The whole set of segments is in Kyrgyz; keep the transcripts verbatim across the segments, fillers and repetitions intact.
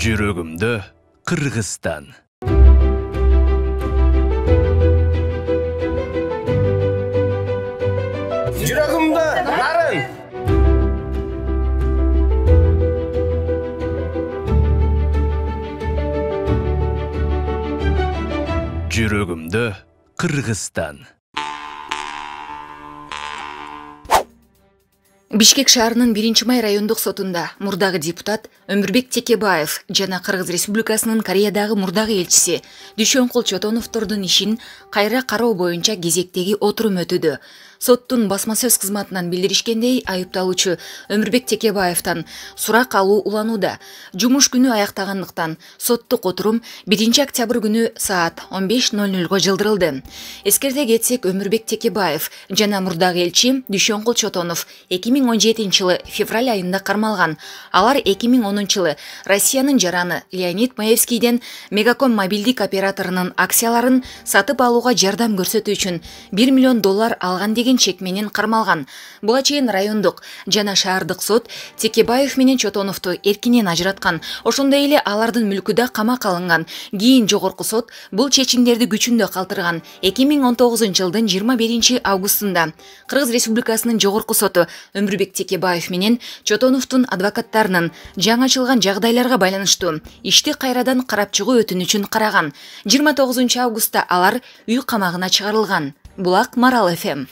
Жүрөгүмдө Кыргызстан. Жүрөгүмдө нарын. Жүрөгүмдө Кыргызстан. Бишкек шаарынын биринчи май райондук сотунда мурдагы депутат Өмүрбек Текебаев жана Кыргыз Республикасынын Кореядагы мурдагы элчиси Дүйшөнкул Чотоновдордун ишин кайра кароо боюнча кезектеги отурум өтүүдө. Соттун басма сөз кызматынан билдиришкендей, айыпталуучу Өмүрбек Текебаевтан сурак алуу уланууда. Жумуш күнү аяктагандыктан соттук отурум биринчи октябрь күнү саат он беш ноль нолго жылдырылды. Эскерте кетсек, Өмүрбек Текебаев жана мурдагы элчи Дүйшөнкул Чотонов эки миң он жетинчи жылы февраль айында кармалган. Алар эки миң онунчу жылы Россиянын жараны Леонид Маевскийден Мегаком мобилдик операторунун акцияларын сатып алууга жардам көрсөтүү үчүн бир миллион доллар алган деген чек менен кармалган. Буга чейин райондук жана шаардык сот Текебаев менен Чотоновду эркинен ажыраткан. Ошондой эле алардын мүлкү да камакка алынган. Кийин жогорку сот бул чечимдерди күчүндө калтырган. эки миң он тогузунчу жылдын жыйырма биринчи августунда Кыргыз Республикасынын жогорку соту Өмүрбек Текебаев менен Чотоновдун адвокаттарынын жаңы ачылган жагдайларга байланыштуу ишти кайрадан карап чыгуу өтүнүчүн караган. жыйырма тогузунчу августта алар үй камагына чыгарылган. Булак Марал эф эм.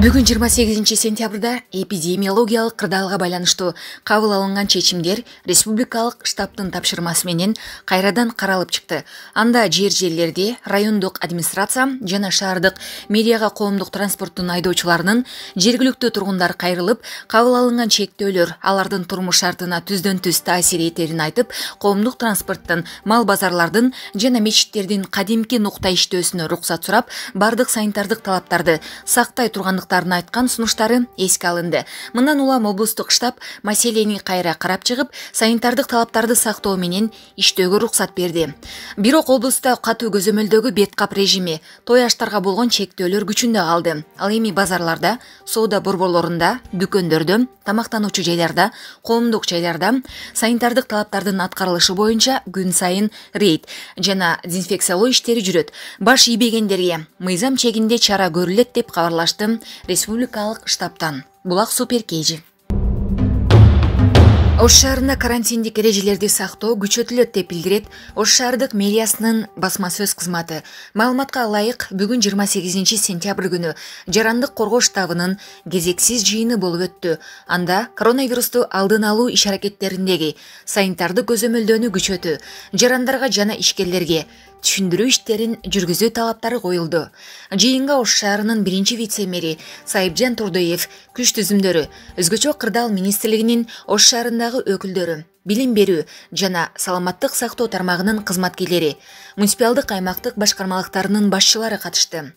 Бүгүн жыйырма сегизинчи сентябрда эпидемиологиялык кырдаалга байланыштуу кабыл алынган чечимдер республикалык штабтын тапшырмасы менен кайрадан каралып чыкты. Анда жер жерлерде райондук администрация жана шаардык мэрияга коомдук транспорттун айдоочуларынын жергиликтүү тургундар кайрылып, кабыл алынган чектөөлөр алардын турмуш шартына түздөн түз таасир этерин айтып, коомдук транспорттун, мал базарлардын жана мечиттердин кадимки нукта иштөөсүнө уруксат сурап, бардык санитардык талаптарды сактай тургандыктарын айткан сунуштары эске алынды. Мындан улам облустук штаб маселени кайра карап чыгып, санитардык талаптарды сактоо менен иштөөгө уруксат берди. Бирок облуста катуу көзөмөлдөгү бет кап режими, той аштарга болгон чектөөлөр күчүндө калды. Ал эми базарларда, соода борборлорунда, дүкөндөрдө, тамактануучу жайларда, коомдук жайларда санитардык талаптардын аткарылышы боюнча күн сайын рейд жана дезинфекциялоо иштери жүрөт. Баш ийбегендерге мыйзам чегинде чара көрүлөт деп кабарлашты республикалык штабтан. Булак Суперкейжи. Ош шаарында карантиндик эрежелерди сактоо күчөтүлөт деп билдирет Ош шаардык мэриясынын басма сөз кызматы. Маалыматка ылайык, бүгүн жыйырма сегизинчи сентябрь күнү жарандык коргоо штабынын кезексиз жыйыны болуп өттү. Анда коронавирусту алдын алуу иш-аракеттериндеги санитардык көзөмөлдөөнү күчөтүү, жарандарга жана ишкерлерге түшүндүрүү иштерин жүргүзүү талаптары коюлду. Жыйынга Ош шаарынын биринчи вице-мэри Сайыпжан Турдоев, күч түзүмдөрү, өзгөчө кырдаал министрлигинин Ош шаарындагы өкүлдөрү, билим берүү жана саламаттык сактоо тармагынын кызматкерлери, муниципалдык аймактык башкармалыктарынын башчылары катышты.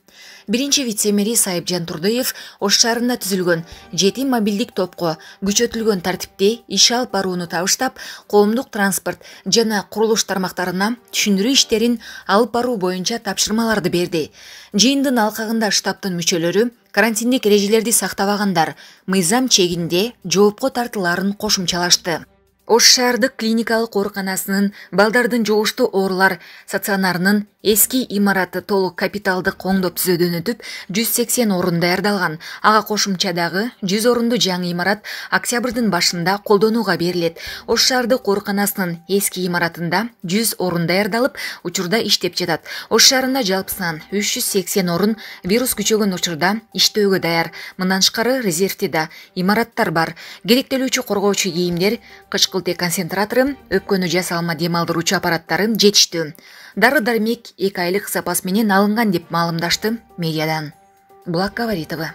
Биринчи вице-мэри Сайыпжан Турдоев Ош шаарында түзүлгөн жети мобилдик топко күчөтүлгөн тартипте иш алып барууну табыштап, коомдук транспорт жана курулуш тармактарына түшүндүрүү иштерин алып баруу боюнча тапшырмаларды берди. Жыйындын алкагында штабтын мүчөлөрү карантиндик эрежелерди сактабагандар мыйзам чегинде жоопко тартылаарын кошумчалашты. Ош шаардык клиникалык ооруканасынын балдардын жугуштуу оорулар стационарынын эски имараты толук капиталдык оңдоп түзөөдөн өтүп, жүз сексен орун даярдалган. Ага кошумча дагы жүз орунду жаңы имарат октябрдын башында колдонууга берилет. Ош шаардык ооруканасынын эски имаратында жүз орун даярдалып, учурда иштеп жатат. Ош шаарында жалпысынан үч жүз сексен орун вирус күчөгөн учурда иштөөгө даяр. Мындан тышкары резервте да имараттар бар. Керектелүүчү коргоочу кийимдер, кычкылтек концентратору, өпкөнү жасалма дем алдыруучу аппараттары жетиштүү. Дары-дармек эки айлык запас менен алынган деп маалымдашты мэриядан. Булак Гаваритова.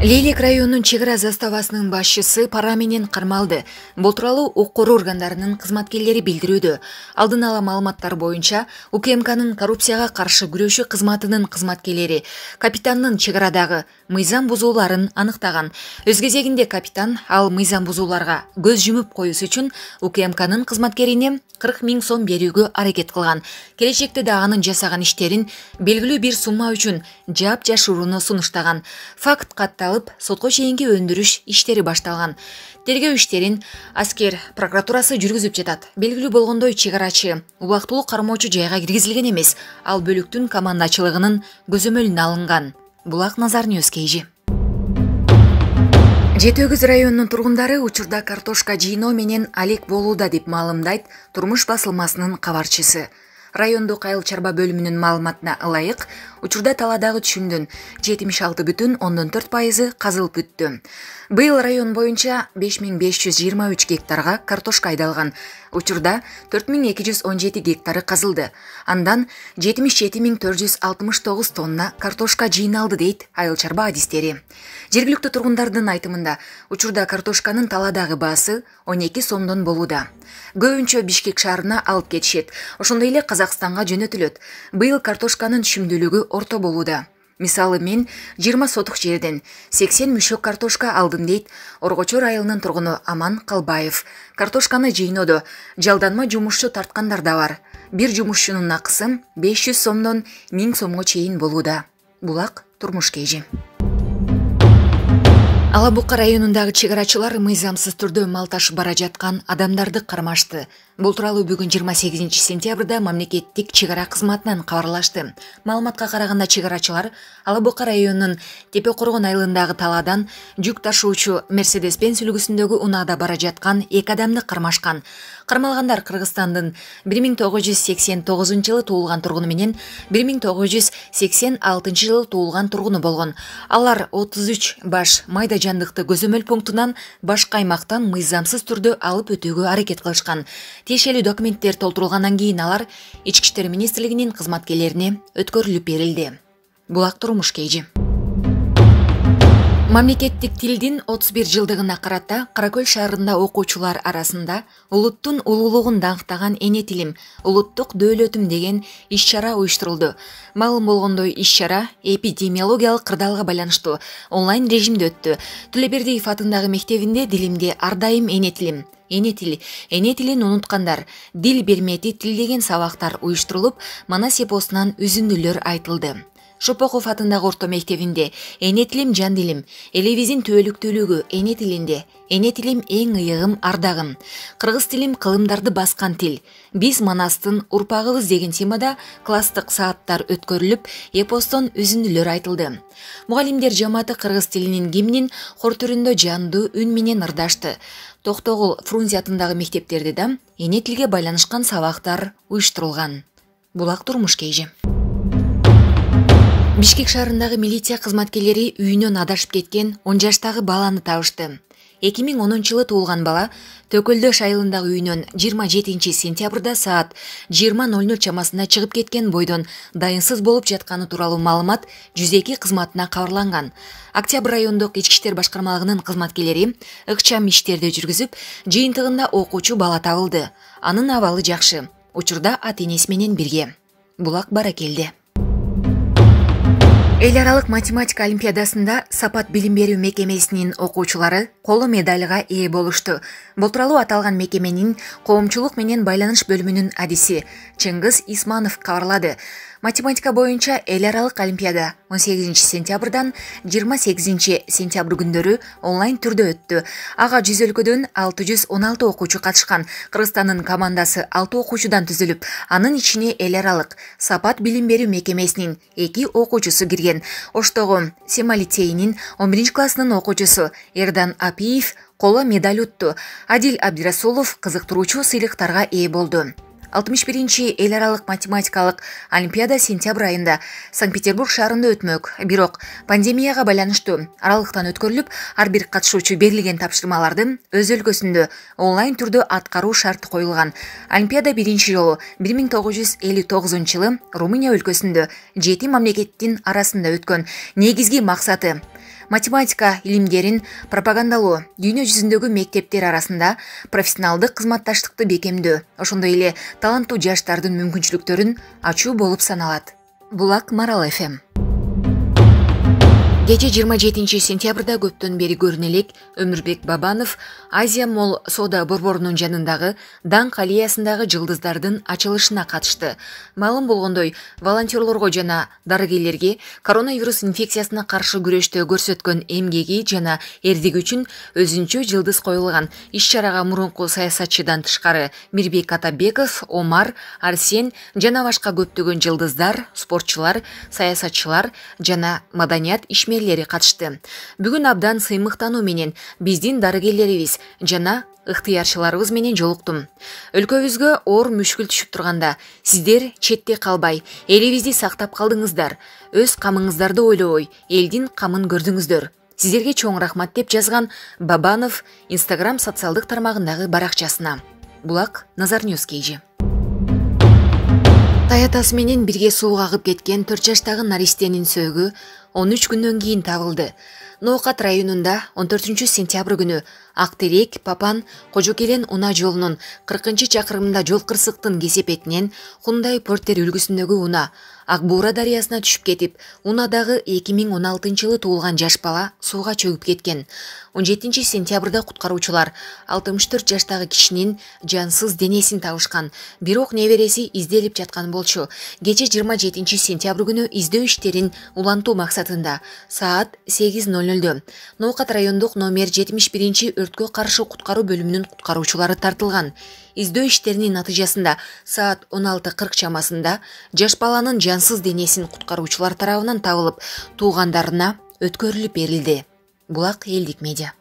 Лейлек районунун чек ара заставасынын башчысы пара менен кармалды. Бул тууралуу укук органдарынын кызматкерлери билдирүүдө. Алдын ала маалыматтар боюнча, У К М К'нын коррупцияга каршы күрөшүү кызматынын кызматкерлери капитандын чек арадагы мыйзам бузууларын аныктаган. Өз кезегинде капитан ал мыйзам бузууларга көз жумуп коюус үчүн У К М К'нын кызматкерине кырк миң сом берүүгө аракет кылган. Келечекте да анын жасаган иштерин белгилүү бир сумма үчүн жаап жашырууну сунуштаган. Факт катталып башталып, сотко чейинки өндүрүш иштери башталган. Тергөө иштерин аскер прокуратурасы жүргүзүп жатат. Белгилүү болгондой, чек арачы убактылуу кармоочу жайга киргизилген эмес, ал бөлүктүн командачылыгынын көзөмөлүнө алынган. Булак Назар Ньюс Кейжи. Жети Өгүз районунун тургундары учурда картошка жыйноо менен алек болууда деп маалымдайт Турмуш басылмасынын кабарчысы. Райондук айыл чарба бөлүмүнүн маалыматына ылайык, учурда талаадагы түшүмдүн жетимиш алты бүтүн ондон төрт пайызы казылып бүттү. Быйыл район боюнча беш миң беш жүз жыйырма үч гектарга картошка айдалган. Учурда төрт миң эки жүз он жети гектары казылды. Андан жетимиш жети миң төрт жүз алтымыш тогуз тонна картошка жыйналды дейт айыл чарба адистери. Жергиликтүү тургундардын айтымында, учурда картошканын талаадагы баасы он эки сомдон болууда. Көбүнчө Бишкек шаарына алып кетишет, ошондой эле Казакстанга жөнөтүлөт. Быйыл картошканын түшүмдүүлүгү орто болууда. Мисалы, мен жыйырма сотук жерден сексен мүшөк картошка алдым дейт Оргочор айылынын тургуну Аман Калбаев. Картошканы жыйноодо жалданма жумушчу тарткандар да бар. Бир жумушчунун акысы беш жүз сомдон миң сомго чейин болууда. Булак Турмуш Кейжи. Ала Бука районундагы чек арачылар мыйзамсыз түрдө мал ташып бара жаткан адамдарды кармашты. Бул тууралуу бүгүн жыйырма сегизинчи сентябрда мамлекеттик чек ара кызматынан кабарлашты. Маалыматка караганда, чек арачылар Ала Бука районунун Тепе Коргон айылындагы талаадан жүк ташуучу Мерседес Бенц үлгүсүндөгү унаада бара жаткан эки адамды кармашкан. Кармалгандар Кыргызстандын бир миң тогуз жүз сексен тогузунчу жылы туулган тургуну менен бир миң тогуз жүз сексен алтынчы жылы туулган тургуну болгон. Алар отуз үч баш майда жандыкты көзөмөл пунктунан башка аймактан мыйзамсыз түрдө алып өтүүгө аракет кылышкан. Тиешелүү документтер толтурулгандан кийин алар Ички иштер министрлигинин кызматкерлерине өткөрүлүп берилди. Булак Турмуш Кейжи. Мамлекеттик тилдин отуз бир жылдыгына карата Каракөл шаарында окуучулар арасында улуттун улуулугун даңктаган эне тилим, улуттук дөөлөтүм деген иш-чара уюштурулду. Маалым болгондой, иш-чара эпидемиологиялык кырдаалга байланыштуу онлайн режимде өттү. Төлөбердиев атындагы мектебинде дилимде ар дайым эне тилим, эне тил, эне тилин унуткандар, дил бермети тил деген сабактар уюштурулуп, Манас эпосунан үзүндүлөр айтылды. Шопоков атындагы орто мектебинде эне тилим жан дилим, элебиздин түбөлүктүүлүгү эне тилинде, эне тилим эң ыйыгым ардагым, кыргыз тилим кылымдарды баскан тил, биз Манастын урпагыбыз деген темада класстык сааттар өткөрүлүп, эпостон үзүндүлөр айтылды. Мугалимдер жамааты кыргыз тилинин гимнин хор түрүндө жандуу үн менен ырдашты. Токтогул, Фрунзе атындагы мектептерде да эне тилге байланышкан сабактар уюштурулган. Булак Турмуш Кейжи. Бишкек шаарындагы милиция кызматкерлери үйүнөн адашып кеткен он жаштагы баланы табышты. эки миң онунчу жылы туулган бала Төкөлдөш айылындагы үйүнөн жыйырма жетинчи сентябрда саат жыйырма ноль ноль чамасында чыгып кеткен бойдон дайынсыз болуп жатканы тууралуу маалымат жүз эки кызматына кабарланган. Октябрь райондук ички иштер башкармалыгынын кызматкерлери ыкчам иштерди жүргүзүп, жыйынтыгында окуучу бала табылды. Анын абалы жакшы. Учурда ата-энеси менен бирге. Булак Баракелди. Эл аралык математика олимпиадасында Сапат билим берүү мекемесинин окуучулары коло медальга ээ болушту. Бул тууралуу аталган мекеменин коомчулук менен байланыш бөлүмүнүн адиси Чыңгыз Исманов кабарлады. Математика боюнча эл аралык олимпиада он сегизинчи сентябрдан жыйырма сегизинчи сентябрь күндөрү онлайн түрдө өттү. Ага жүз өлкөдөн алты жүз он алты окуучу катышкан. Кыргызстандын командасы алты окуучудан түзүлүп, анын ичине эл аралык Сапат билим берүү мекемесинин эки окуучусу кирген. Оштогу Сема лицейинин он биринчи классынын окуучусу Эрдан Апиев коло медаль утту. Адил Абдирасулов кызыктыруучу сыйлыктарга ээ болду. алтымыш биринчи эл аралык математикалык олимпиада сентябрь айында Санкт-Петербург шаарында өтмөк. Бирок пандемияга байланыштуу аралыктан өткөрүлүп, ар бир катышуучу берилген тапшырмаларды өз өлкөсүндө онлайн түрдө аткаруу шарты коюлган. Олимпиада биринчи жолу бир миң тогуз жүз элүү тогузунчу жылы Румыния өлкөсүндө жети мамлекеттин арасында өткөн. Негизги максаты математика илимдерин пропагандалоо, дүйнө жүзүндөгү мектептер арасында профессионалдык кызматташтыкты бекемдөө, ошондой эле таланттуу жаштардын мүмкүнчүлүктөрүн ачуу болуп саналат. Булак Марал эф эм. Кечээ жыйырма жетинчи сентябрда көптөн бери көрүнө элек Өмүрбек Бабанов Азия Молл соода борборунун жанындагы даңк аллеясындагы жылдыздардын ачылышына катышты. Маалым болгондой, волонтерлорго жана дарыгерлерге коронавирус инфекциясына каршы күрөштө көрсөткөн эмгеги жана эрдиги үчүн өзүнчө жылдыз коюлган. Иш-чарага мурунку саясатчыдан тышкары Мирбек Атабеков, Омар, Арсен жана башка көптөгөн жылдыздар, спортчулар, саясатчылар жана маданият ишмерлери катышты. Бүгүн абдан сыймыктануу менен биздин дарыгерлерибиз жана ыктыярчыларыбыз менен жолуктум. Өлкөбүзгө оор мүшкүл түшүп турганда сиздер четте калбай, элибизди сактап калдыңыздар. Өз камыңыздарды ойлобой, элдин камын көрдүңүздөр. Сиздерге чоң рахмат деп жазган Бабанов Instagram социалдык тармагындагы баракчасына. Булак Назар Ньюс Кейжи. Таятасы менен бирге сууга агып кеткен төрт жаштагы наристенин сөөгү он үч күндөн кийин табылды. Ноокат районунда он төртүнчү сентябрь күнү Актерек, Папан, Кожокелен унаа жолунун кыркынчы чакырымында жол кырсыктын кесепетинен Хундай Портер үлгүсүндөгү унаа Ак Буура дарыясына түшүп кетип, унаадагы эки миң он алтынчы жылы туулган жаш бала сууга чөгүп кеткен. он жетинчи сентябрда куткаруучулар алтымыш төрт жаштагы кишинин жансыз денесин табышкан. Бирок небереси изделип жаткан болчу. Кечээ жыйырма жетинчи сентябрь күнү издөө иштерин улантуу максатында саат сегиз ноль нольдө Ноокат райондук номер жетимиш биринчи өрткө каршы куткаруу бөлүмүнүн куткаруучулары тартылган. Издөө иштеринин натыйжасында саат он алты кырк чамасында жаш баланын жансыз денесин куткаруучулар тарабынан табылып, туугандарына өткөрүлүп берилди. Булак элдик медиа.